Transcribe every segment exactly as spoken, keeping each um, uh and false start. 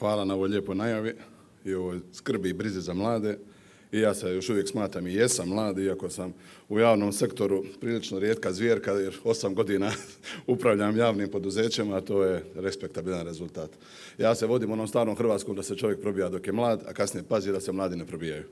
Hvala na ovoj lijepoj najavi i ovoj skrbi i brizi za mlade. I ja se još uvijek smatram i jesam mlad, iako sam u javnom sektoru prilično rijetka zvjerka, jer osam godina upravljam javnim poduzećima, a to je respektabilan rezultat. Ja se vodim onom starom hrvatskom da se čovjek probija dok je mlad, a kasnije pazi da se mladi ne probijaju.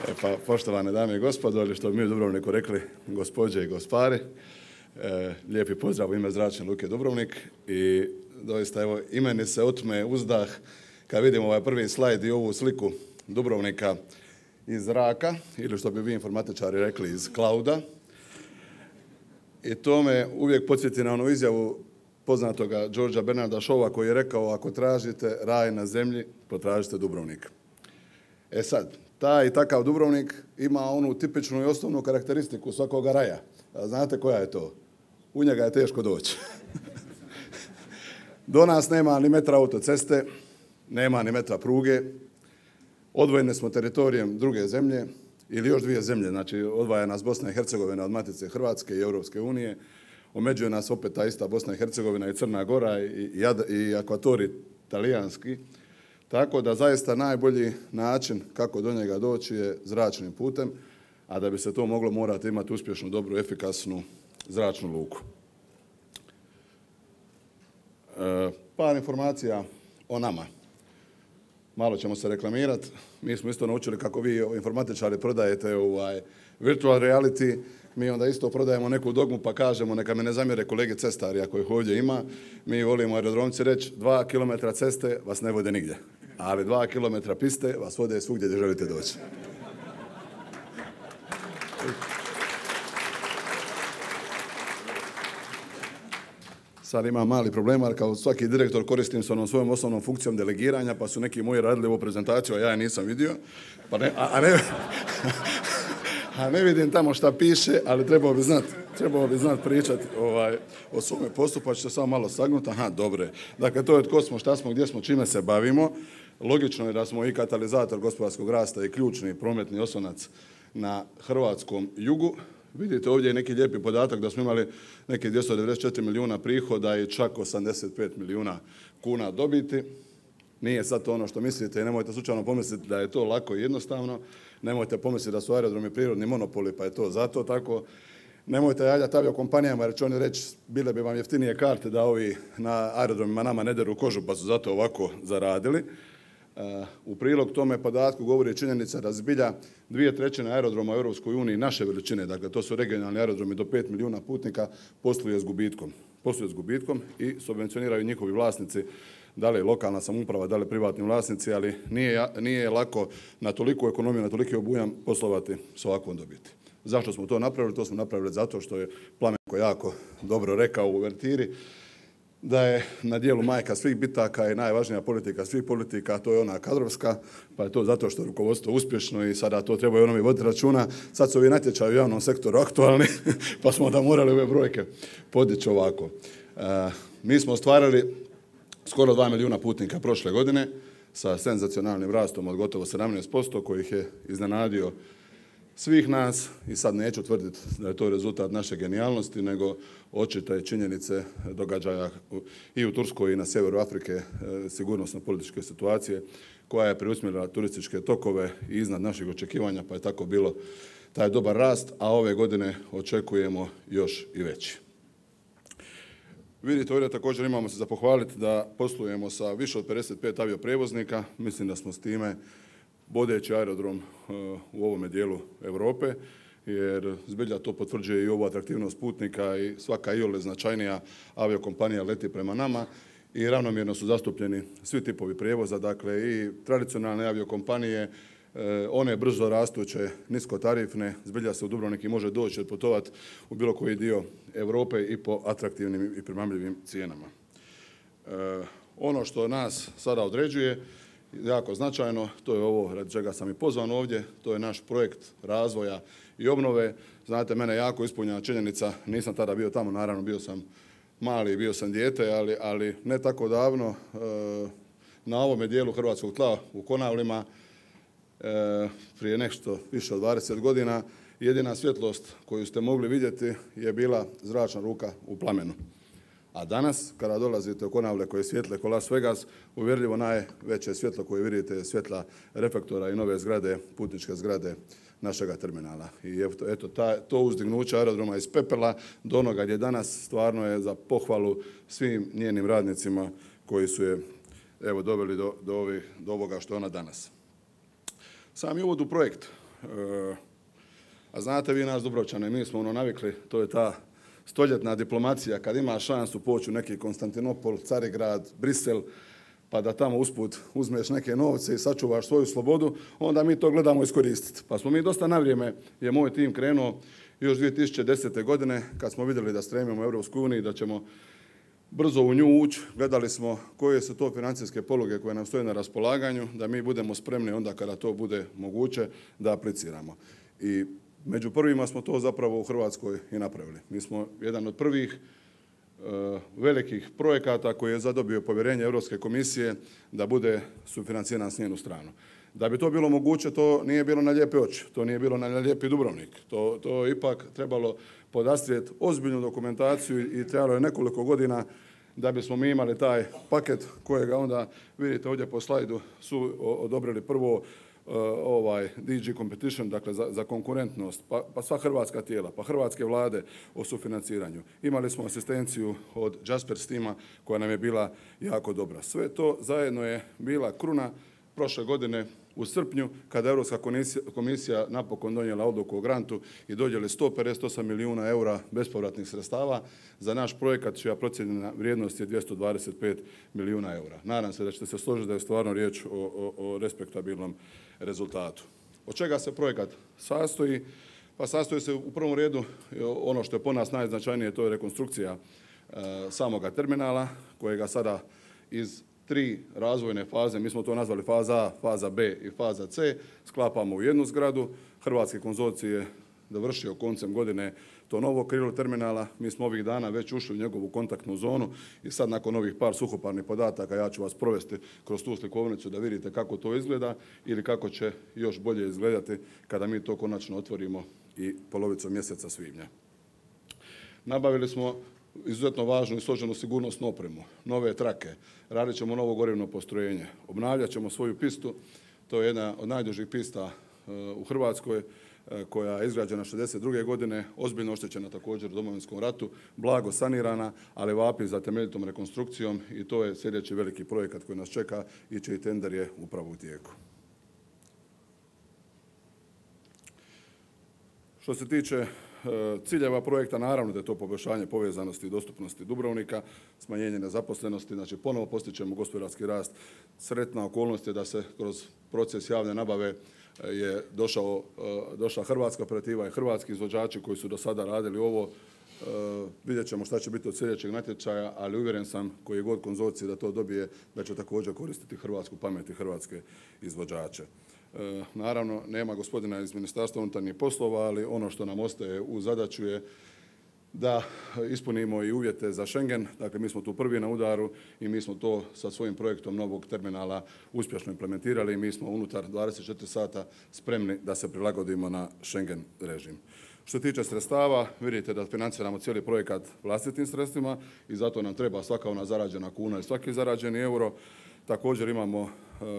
E pa, poštovane dame i gospodo, ili što bi mi u Dubrovniku rekli, gospođe i gospari, e, lijepi pozdrav u ime Zračne luke Dubrovnik i doista evo i meni se otme uzdah kad vidim ovaj prvi slajd i ovu sliku Dubrovnika iz zraka, ili što bi vi informatičari rekli iz klauda. I to me uvijek podsjeti na onu izjavu poznatoga Georgea Bernarda Shawa koji je rekao: ako tražite raj na zemlji, potražite Dubrovnik. E sad, taj i takav Dubrovnik ima onu tipičnu i osnovnu karakteristiku svakoga raja. A znate koja je to? U njega je teško doći. Do nas nema ni metra autoceste, nema ni metra pruge, odvojeni smo teritorijem druge zemlje, ili još dvije zemlje, znači odvaja nas Bosna i Hercegovina od Matice Hrvatske i Europske unije, omeđuje nas opet ta ista Bosna i Hercegovina i Crna Gora i, i, i akvatori talijanski. Tako da zaista najbolji način kako do njega doći je zračnim putem, a da bi se to moglo morate imati uspješnu, dobru, efikasnu zračnu luku. E, par informacija o nama. Malo ćemo se reklamirati. Mi smo isto naučili kako vi informatičari prodajete ovaj virtual reality. Mi onda isto prodajemo neku dogmu pa kažemo, neka me ne zamjere kolege cestari ako ih ovdje ima. Mi volimo aerodromci reći dva kilometra ceste vas ne vode nigdje, ali dva kilometra piste vas vode svugdje gdje želite doći. Sad imam mali problem, ali kao svaki direktor koristim se onom svojom osnovnom funkcijom delegiranja, pa su neki moji radili ovu prezentaciju, a ja je nisam vidio. Pa ne, a, a, ne, a ne vidim tamo šta piše, ali trebao bi znati trebao bi znat pričati ovaj, o svome poslu, pa ću se samo malo sagnuti. Aha, dobre. Dakle, to je tko smo, šta smo, gdje smo, čime se bavimo. Logično je da smo i katalizator gospodarskog rasta i ključni prometni oslonac na hrvatskom jugu. Vidite ovdje je neki lijepi podatak da smo imali neki dvjesto devedeset četiri milijuna prihoda i čak osamdeset pet milijuna kuna dobiti. Nije sad to ono što mislite i nemojte slučajno pomisliti da je to lako i jednostavno. Nemojte pomisliti da su aerodromi prirodni monopoli pa je to zato tako. Nemojte javljati aviokompanijama jer će oni reći bile bi vam jeftinije karte da ovi na aerodromima nama ne deru kožu pa su zato ovako zaradili. U prilog tome podatku govori činjenica da zbilja dvije trećine aerodroma u Europskoj uniji naše veličine, dakle to su regionalni aerodromi do pet milijuna putnika, posluje s gubitkom. Posluje s gubitkom i subvencioniraju njihovi vlasnici, da li lokalna samouprava, da li privatni vlasnici, ali nije, nije lako na toliku ekonomiju, na toliki obujam poslovati s ovakvom dobiti. Zašto smo to napravili? To smo napravili zato što je Plamenko jako dobro rekao u uvertiri da je na dijelu majka svih bitaka i najvažnija politika svih politika, a to je ona kadrovska, pa je to zato što je rukovodstvo uspješno i sada to trebaju onomi voditi računa. Sad su ovi natječaji u javnom sektoru aktualni, pa smo da morali ove brojke podići ovako. E, mi smo ostvarili skoro dva milijuna putnika prošle godine sa senzacionalnim rastom od gotovo sedamnaest posto kojih je iznenadio svih nas i sad neću tvrditi da je to rezultat naše genijalnosti, nego očite činjenice događaja i u Turskoj i na sjeveru Afrike, sigurnosno-političke situacije koja je preusmjerila turističke tokove i iznad naših očekivanja, pa je tako bilo taj dobar rast, a ove godine očekujemo još i veći. Vidite, ovdje također imamo se za pohvaliti da poslujemo sa više od pedeset pet avioprijevoznika. Mislim da smo s time vodeći aerodrom u ovome dijelu Europe, jer zbilja to potvrđuje i ovu atraktivnost putnika i svaka iole značajnija aviokompanija leti prema nama i ravnomjerno su zastupljeni svi tipovi prijevoza, dakle i tradicionalne aviokompanije, one brzo rastuće, niskotarifne, zbilja se u Dubrovnik i može doći i otputovati u bilo koji dio Europe i po atraktivnim i primamljivim cijenama. Ono što nas sada određuje jako značajno, to je ovo radi čega sam i pozvan ovdje, to je naš projekt razvoja i obnove. Znate, mene jako ispunjena činjenica, nisam tada bio tamo, naravno bio sam mali, bio sam dijete, ali, ali ne tako davno e, na ovome dijelu hrvatskog tla u Konavlima, e, prije nešto više od dvadeset godina, jedina svjetlost koju ste mogli vidjeti je bila zračna ruka u plamenu. A danas, kada dolazite u Konavle koje svijetle ko Las Vegas, uvjerljivo najveće svjetlo koje vidite je svjetla reflektora i nove zgrade, putničke zgrade našega terminala. I eto, eto ta, to uzdignuće aerodroma iz pepela do onoga gdje danas stvarno je za pohvalu svim njenim radnicima koji su je evo, doveli do, do, ovih, do ovoga što je ona danas. Sami uvod u projekt. E, a znate vi nas Dubrovčane, mi smo ono navikli, to je ta stoljetna diplomacija, kad ima šansu poći u neki Konstantinopol, Carigrad, Brisel, pa da tamo usput uzmeš neke novce i sačuvaš svoju slobodu, onda mi to gledamo iskoristiti. Pa smo mi dosta na vrijeme, je moj tim krenuo još dvije tisuće desete. godine, kad smo vidjeli da stremimo u Europsku uniju, da ćemo brzo u nju ući, gledali smo koje su to financijske poluge koje nam stoje na raspolaganju, da mi budemo spremni onda kada to bude moguće da apliciramo. I među prvima smo to zapravo u Hrvatskoj i napravili. Mi smo jedan od prvih e, velikih projekata koji je zadobio povjerenje Europske komisije da bude sufinanciran s njenu stranu. Da bi to bilo moguće, to nije bilo na lijepe oči, to nije bilo na lijepi Dubrovnik. To, to je ipak trebalo podastrijeti ozbiljnu dokumentaciju i trebalo je nekoliko godina da bismo mi imali taj paket kojega onda vidite ovdje po slajdu su odobrili prvo ovaj D G Competition, dakle za, za konkurentnost, pa, pa sva hrvatska tijela, pa hrvatske vlade o sufinanciranju. Imali smo asistenciju od Jaspers tima koja nam je bila jako dobra. Sve to zajedno je bila kruna prošle godine u srpnju, kada je Europska komisija napokon donijela odluku o grantu i dodijeli sto pedeset osam milijuna eura bespovratnih sredstava za naš projekat čija procijenjena vrijednost je dvjesto dvadeset pet milijuna eura. Nadam se da ćete se složiti da je stvarno riječ o, o, o respektabilnom rezultatu. Od čega se projekat sastoji? Pa sastoji se u prvom redu ono što je po nas najznačajnije, to je rekonstrukcija e, samoga terminala kojega sada iz tri razvojne faze, mi smo to nazvali faza A, faza B i faza C, sklapamo u jednu zgradu. Hrvatski konzorcij je dovršio koncem godine to novo krilo terminala. Mi smo ovih dana već ušli u njegovu kontaktnu zonu i sad nakon ovih par suhoparnih podataka ja ću vas provesti kroz tu slikovnicu da vidite kako to izgleda ili kako će još bolje izgledati kada mi to konačno otvorimo i polovicom mjeseca svibnja. Nabavili smo izuzetno važnu i složenu sigurnosnu opremu, nove trake, radit ćemo novo gorivno postrojenje, obnavljat ćemo svoju pistu, to je jedna od najdužih pista u Hrvatskoj koja je izgrađena šezdeset druge. godine, ozbiljno oštećena također u Domovinskom ratu, blago sanirana, ali vapi za temeljitom rekonstrukcijom i to je sljedeći veliki projekat koji nas čeka i čiji tender je upravo u tijeku. Što se tiče ciljeva projekta, naravno da je to poboljšanje povezanosti i dostupnosti Dubrovnika, smanjenje nezaposlenosti, znači ponovo postićemo gospodarski rast. Sretna okolnost je da se kroz proces javne nabave je došao, došla hrvatska operativa i hrvatski izvođači koji su do sada radili ovo. Vidjet ćemo šta će biti od sljedećeg natječaja, ali uvjeren sam koji je god konzorcij da to dobije, da će također koristiti hrvatsku pamet i hrvatske izvođače. E, naravno, nema gospodina iz Ministarstva unutarnjih poslova, ali ono što nam ostaje u zadaću je da ispunimo i uvjete za Schengen. Dakle, mi smo tu prvi na udaru i mi smo to sa svojim projektom novog terminala uspješno implementirali i mi smo unutar dvadeset četiri sata spremni da se prilagodimo na Schengen režim. Što se tiče sredstava, vidite da financiramo cijeli projekat vlastitim sredstvima i zato nam treba svaka ona zarađena kuna i svaki zarađeni euro. Također imamo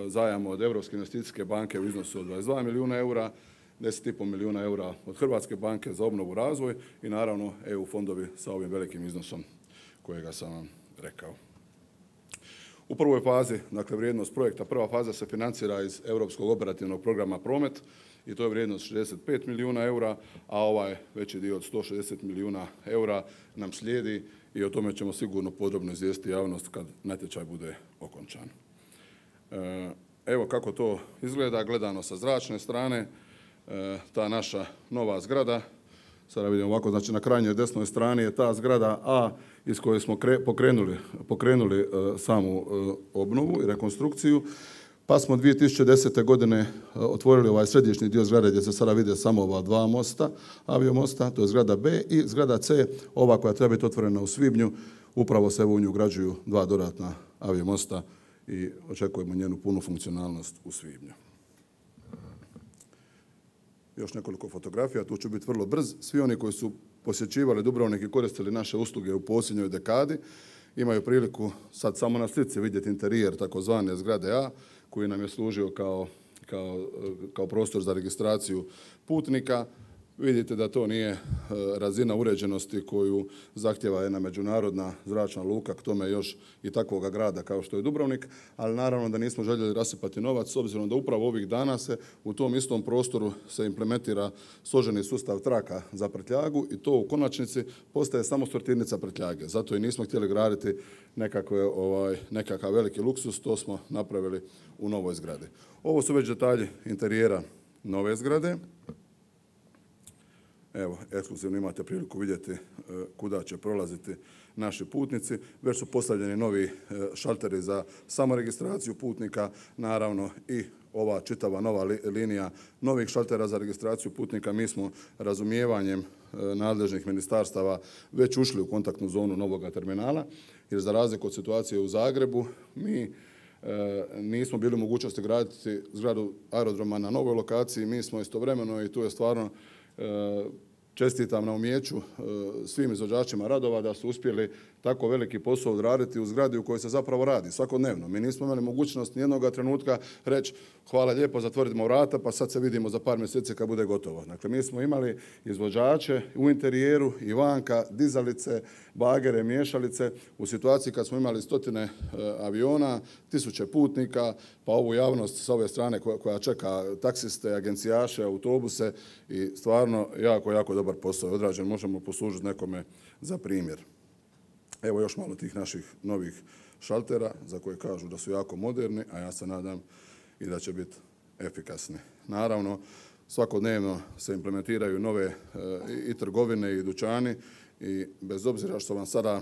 zajam od Europske investicijske banke u iznosu od dvadeset dva milijuna eura, deset i pol milijuna eura od Hrvatske banke za obnovu i razvoj i naravno E U fondovi sa ovim velikim iznosom kojega sam vam rekao. U prvoj fazi, dakle vrijednost projekta, prva faza se financira iz Europskog operativnog programa Promet i to je vrijednost šezdeset pet milijuna eura, a ovaj veći dio od sto šezdeset milijuna eura nam slijedi i o tome ćemo sigurno podrobno izvijestiti javnost kad natječaj bude okončan. Evo kako to izgleda gledano sa zračne strane, ta naša nova zgrada. Sada vidimo ovako, znači na krajnjoj desnoj strani je ta zgrada A iz koje smo pokrenuli, pokrenuli samu obnovu i rekonstrukciju. Pa smo dvije tisuće desete. godine otvorili ovaj središnji dio zgrade gdje se sada vide samo ova dva mosta, aviomosta, to je zgrada B i zgrada C, ova koja treba biti otvorena u svibnju. Upravo se u nju ugrađuju dva dodatna aviomosta i očekujemo njenu punu funkcionalnost u svibnju. još nekoliko fotografija, tu ću biti vrlo brz. Svi oni koji su posjećivali Dubrovnik i koristili naše usluge u posljednjoj dekadi imaju priliku sad samo na slici vidjeti interijer takozvane zgrade A, koji nam je služio kao, kao, kao prostor za registraciju putnika. Vidite da to nije razina uređenosti koju zahtjeva jedna međunarodna zračna luka, k tome još i takvoga grada kao što je Dubrovnik, ali naravno da nismo željeli rasipati novac s obzirom da upravo ovih dana se u tom istom prostoru se implementira složeni sustav traka za prtljagu i to u konačnici postaje samo sortirnica prtljage. Zato i nismo htjeli graditi nekakve, ovaj, nekakav veliki luksus, to smo napravili u novoj zgradi. Ovo su već detalji interijera nove zgrade. Evo, ekskluzivno imate priliku vidjeti kuda će prolaziti naši putnici. Već su postavljeni novi šalteri za samoregistraciju putnika, naravno i ova čitava nova linija novih šaltera za registraciju putnika. Mi smo razumijevanjem nadležnih ministarstava već ušli u kontaktnu zonu novoga terminala, jer za razliku od situacije u Zagrebu, mi nismo bili u mogućnosti graditi zgradu aerodroma na novoj lokaciji. Mi smo istovremeno, i tu je stvarno čestitam na umijeću svim izvođačima radova da su uspjeli tako veliki posao odraditi u zgradi u kojoj se zapravo radi svakodnevno. Mi nismo imali mogućnost nijednog trenutka reći hvala lijepo, zatvorimo vrata pa sad se vidimo za par mjeseci kad bude gotovo. Dakle, mi smo imali izvođače u interijeru i vanka, dizalice, bagere, miješalice u situaciji kad smo imali stotine aviona, tisuće putnika, pa ovu javnost sa ove strane koja čeka taksiste, agencijaše, autobuse i stvarno jako, jako dobar posao je odrađen. Možemo poslužiti nekome za primjer. Evo još malo tih naših novih šaltera za koje kažu da su jako moderni, a ja se nadam i da će biti efikasni. Naravno, svakodnevno se implementiraju nove i trgovine i dućani i bez obzira što vam sada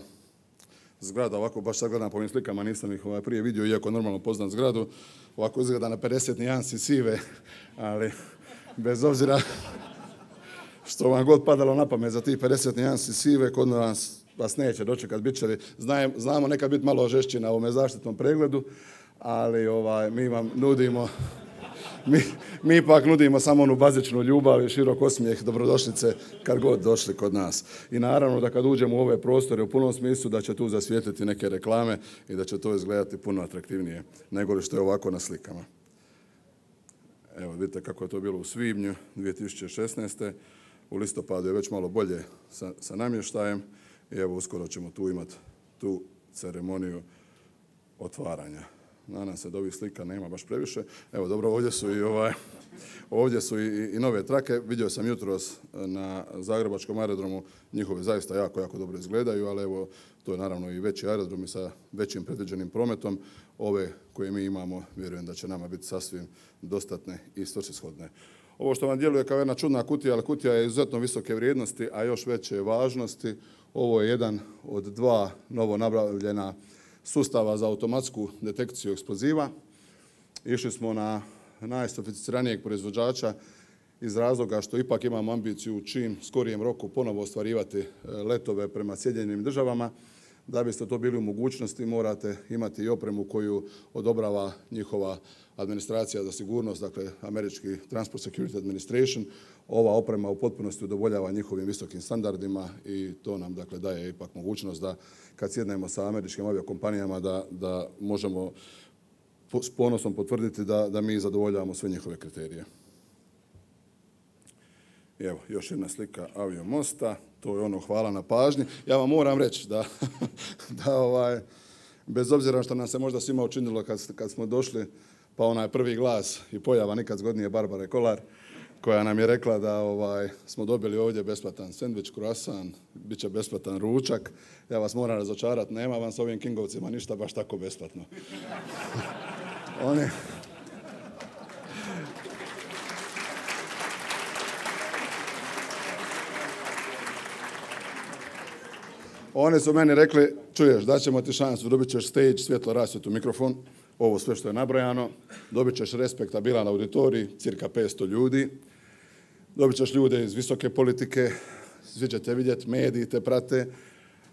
zgrada ovako, baš sad gledam po ovim slikama, nisam ih ovaj prije vidio, iako normalno poznam zgradu, ovako izgleda na pedeset nijansi sive, ali bez obzira što vam god padalo na pamet za tih pedeset nijansi sive, kod nas vas neće dočekat, bit će, znamo nekad biti malo žešći na ovome zaštitnom pregledu, ali ovaj, mi vam nudimo, mi, mi ipak nudimo samo onu bazičnu ljubav i širok osmijeh, dobrodošlice kad god došli kod nas. I naravno da kad uđemo u ove prostore u punom smislu da će tu zasvijetliti neke reklame i da će to izgledati puno atraktivnije nego li što je ovako na slikama. Evo vidite kako je to bilo u svibnju dvije tisuće šesnaeste. U listopadu je već malo bolje sa, sa namještajem i evo uskoro ćemo tu imati tu ceremoniju otvaranja. Nadam se da ovih slika nema baš previše. Evo dobro, ovdje su i, ovaj, ovdje su i, i nove trake. Vidio sam jutros na Zagrebačkom aerodromu, njihove zaista jako, jako dobro izgledaju, ali evo to je naravno i veći aerodrom i sa većim predviđenim prometom. Ove koje mi imamo, vjerujem da će nama biti sasvim dostatne i svrsishodne. Ovo što vam djeluje kao jedna čudna kutija, ali kutija je izuzetno visoke vrijednosti, a još veće važnosti. Ovo je jedan od dva novo nabavljena sustava za automatsku detekciju eksploziva. Išli smo na najsofisticiranijeg proizvođača iz razloga što ipak imamo ambiciju u čim skorijem roku ponovo ostvarivati letove prema Sjedinjenim državama. Da biste to bili u mogućnosti, morate imati i opremu koju odobrava njihova administracija za sigurnost, dakle Američki Transport Security Administration. Ova oprema u potpunosti udovoljava njihovim visokim standardima i to nam dakle daje ipak mogućnost da kad sjednemo sa američkim aviokompanijama da, da možemo s ponosom potvrditi da, da mi zadovoljavamo sve njihove kriterije. I evo, još jedna slika aviomosta, to je ono hvala na pažnji. Ja vam moram reći da, da ovaj, bez obzira što nam se možda svima učinilo kad, kad smo došli, pa onaj prvi glas i pojava nikad zgodnije Barbare Kolar, koja nam je rekla da ovaj, smo dobili ovdje besplatan sendvič, croissant, bit će besplatan ručak. Ja vas moram razočarati, nema vam s ovim Kingovcima ništa baš tako besplatno. Oni... Oni su meni rekli, čuješ, daćemo ti šansu, dobit ćeš stage, svjetlo rasvjetu, mikrofon, ovo sve što je nabrojano, dobit ćeš respektabilan auditorij, cirka petsto ljudi, dobit ćeš ljude iz visoke politike, svi ćete vidjeti, mediji te prate,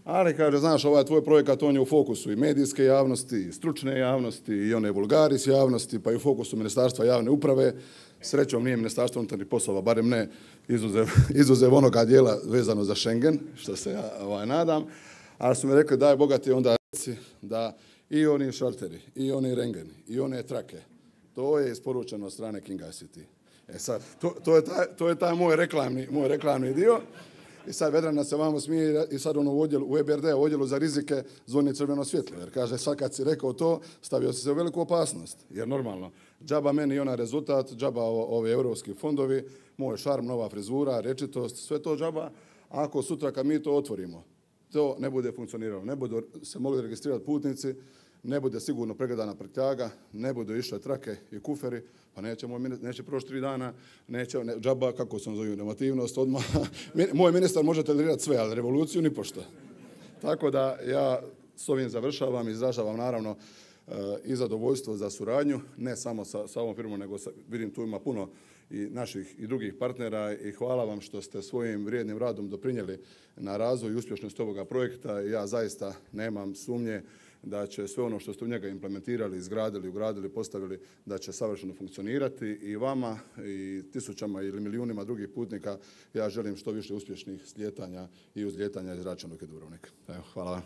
Ali kaže, znaš, ovaj tvoj projekat, on je u fokusu i medijske javnosti, i stručne javnosti, i one vulgaris javnosti, pa i u fokusu Ministarstva javne uprave. Srećom nije Ministarstvo unutarnjih poslova, barem ne izuzev, izuzev onoga dijela vezano za Schengen, što se ja ovaj, nadam. Ali su mi rekli, daj Boga ti onda reci da i oni šalteri, i oni rengeni, i one trake, to je isporučeno od strane Kinga I C T. E sad, to, to, je, taj, to je taj moj reklamni, moj reklamni dio. I sad Vedrana se vamo smije i sad ono u, odjelu, u E B R D, u odjelu za rizike, zvoni crveno svjetlo. Jer kaže, sad kad si rekao to, stavio si se u veliku opasnost. Jer normalno, džaba meni i onaj rezultat, džaba ovi europski fondovi, moj šarm, nova frizura, rečitost, sve to džaba. Ako sutra kad mi to otvorimo, to ne bude funkcioniralo, ne budu se mogli registrirati putnici, ne bude sigurno pregledana prtljaga, ne budu išle trake i kuferi, pa nećemo, neće proći tri dana, neće, ne, džaba, kako sam zovem, normativnost, odmah. Moj ministar može tolerirati sve, ali revoluciju ni pošto. Tako da ja s ovim završavam, izražavam naravno i zadovoljstvo za suradnju, ne samo sa, sa ovom firmom, nego sa, vidim tu ima puno i naših i drugih partnera i hvala vam što ste svojim vrijednim radom doprinijeli na razvoj i uspješnost ovoga projekta. Ja zaista nemam sumnje da će sve ono što ste u njega implementirali, izgradili, ugradili, postavili, da će savršeno funkcionirati i vama i tisućama ili milijunima drugih putnika ja želim što više uspješnih slijetanja i uzlijetanja iz Rača luke Dubrovnik. Evo, hvala vam.